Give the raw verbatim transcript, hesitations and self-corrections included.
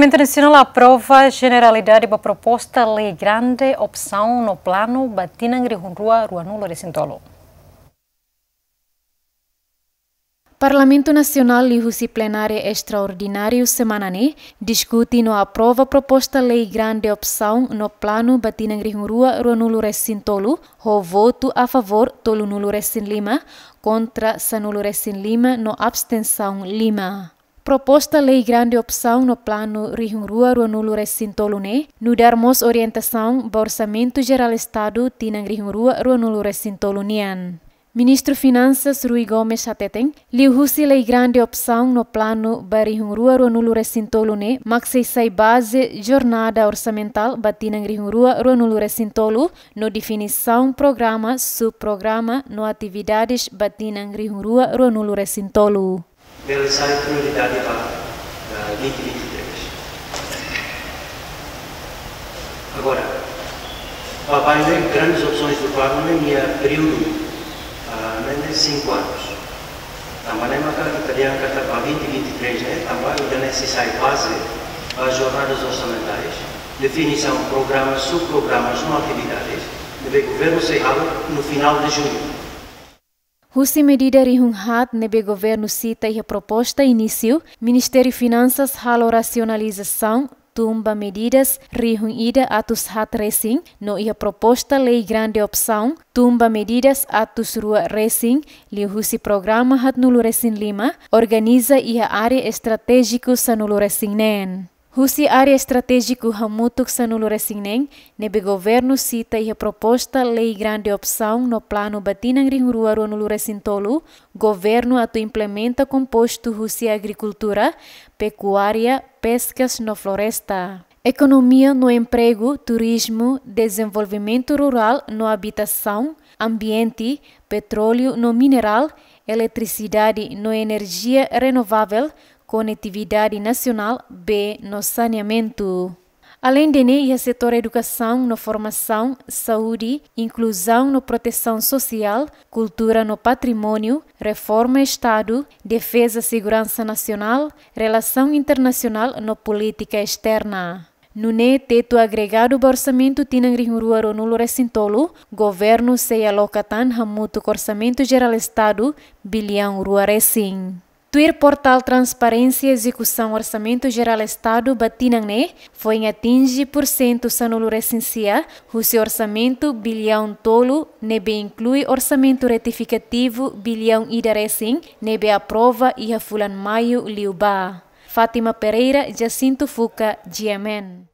Parlamentu Nasionál aprova jeneralidade ba proposta lei grande opsaun no planu ba tinan rihun rua ruanulu resin tolu. Parlamentu Nasionál liuhusi plenária estraordináriu semana ne'e diskute no aprova proposta lei grande opsaun no planu ba tinan rihun rua ruanulu resin tolu, ho votu a favór tolunulu resin lima, kontra sanulu resin lima no abstensaun lima. Proposta lei grande opsaun no planu rihun rua ruanulu resin tolu ne'e nu'udar mós orientasaun ba Orsamentu Jerál Estadu tinan rihun rua ruanulu resin tolu nian. Ministru Finansas Rui Gomes hateten, liuhusi lei grande opsaun no planu ba rihun rua ruanulu resin tolu ne'e mak sei sai baze jornada orsamentál ba tinan rihun rua ruanulu resin tolu, no definisaun programa, subprograma no atividades ba tinan rihun rua ruanulu resin tolu. Bele sai prioridade ba, ba vinte vinte e três. Agora, ba bainhira grandes opções do planu, ne'e nia períodu, ah, ne'e, ne'e cinco anos. Tanba ne'e maka ita dehan katak ba vinte vinte e três, ne'e, tanba ida-ne'e sei sai baze ba jornadas orçamentais, definisaun programas, subprogramas no atividades ne'ebé governu sei halo no final de junho. Husi medida rihun haat ne'ebé governu sita iha proposta inísiu, Ministériu Finansas halo rasionalizasaun tun ba medidas rihun ida atus haat resin, no iha proposta lei grande opsaun tun ba medidas atus rua resin, liuhusi programa haatnulu resin lima, organiza iha área estratéjiku sanulu resin neen. Husi área estratéjiku hamutuk sanulu resin neen, ne'ebé governu sita iha proposta lei grande opsaun no planu ba tinan rihun rua ruanulu resin tolu, governu atu implementa kompostu husi agrikultura, pekuária, peskas no floresta. Ekonomia no empregu, turizmu, dezenvolvimentu rurál no abitasaun, ambiente, petróleu no minerál, eletrisidade no enerjia renovavel, konetividade nasionál, bee no saneamentu. Aleinde ne'e, iha setór edukasaun no formasaun, saúde, inkluzaun no protesaun sosiál, kultura no patrimóniu, reforma Estadu, defeza seguransa nasionál, relasaun internasionál no polítika esterna. Nune'e tetu agregadu ba orsamentu tinan rihun rua ruanulu resin tolu, governu sei aloka tan hamutuk Orsamentu Jerál Estadu biliaun rua resin. Tuir portál transparénsia ezekusaun Orsamentu Jerál Estadu ba tinan ne'e foin atinje pursentu sanulu resin sia husi orsamentu biliaun tolu ne'ebé inklui orsamentu retifikativu biliaun ida resin ne'ebé aprova iha fulan Maiu liubá. Fátima Pereira, Jacinto Fuca, G M N.